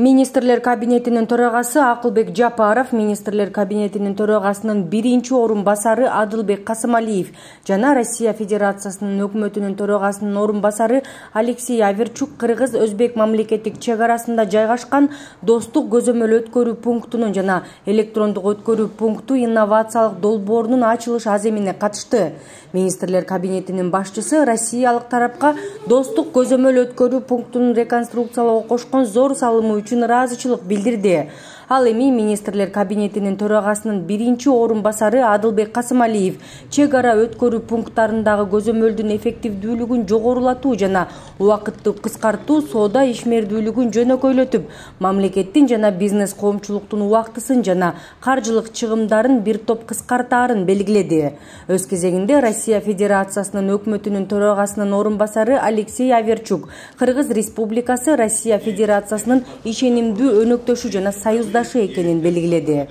Министрлер кабинетинин төрагасы Акылбек Жапаров, министрлер кабинетинин төрагасынын биринчи орун басары Адылбек Касымалиев жана Россия Федерациясынын өкмөтүнүн төрагасынын орун басары Алексей Аверчук кыргыз-өзбек мамлекеттик чек арасында жайгашкан достук көзөмөл өткөрүү пунктунун жана электрондук өткөрүү пункту инновациялык долбоорунун ачылыш аземине катышты. Министрлер кабинетинин башчысы Россиялык тарапка достук көзөмөл өткөрүү пунктунун реконструкциялоого кошкон зор салымы үчүн ыраазычылык билдирди. Ал эми министрлер кабинетинин төрагасынын биринчи орун басары Адылбек Касымалиев чек ара өткөрүү пункттарындагы көзөмөлдүн эффективдүүлүгүн жогорулатуу жана убакытты кыскартуу, соода ишмердүүлүгүн жөнөкөйлөтүп, мамлекеттин жана бизнес коомчулуктун убактысын жана каржылык чыгымдарын бир топ кыскартаарын белгиледи. Өз кезегинде Россия Федерациясынын өкмөтүнүн төрагасынын орун басары Алексей Аверчук Кыргыз Республикасы Россия Федерациясынын ишенимдүү өнөктөшү жана союздашы экенин белгиледи.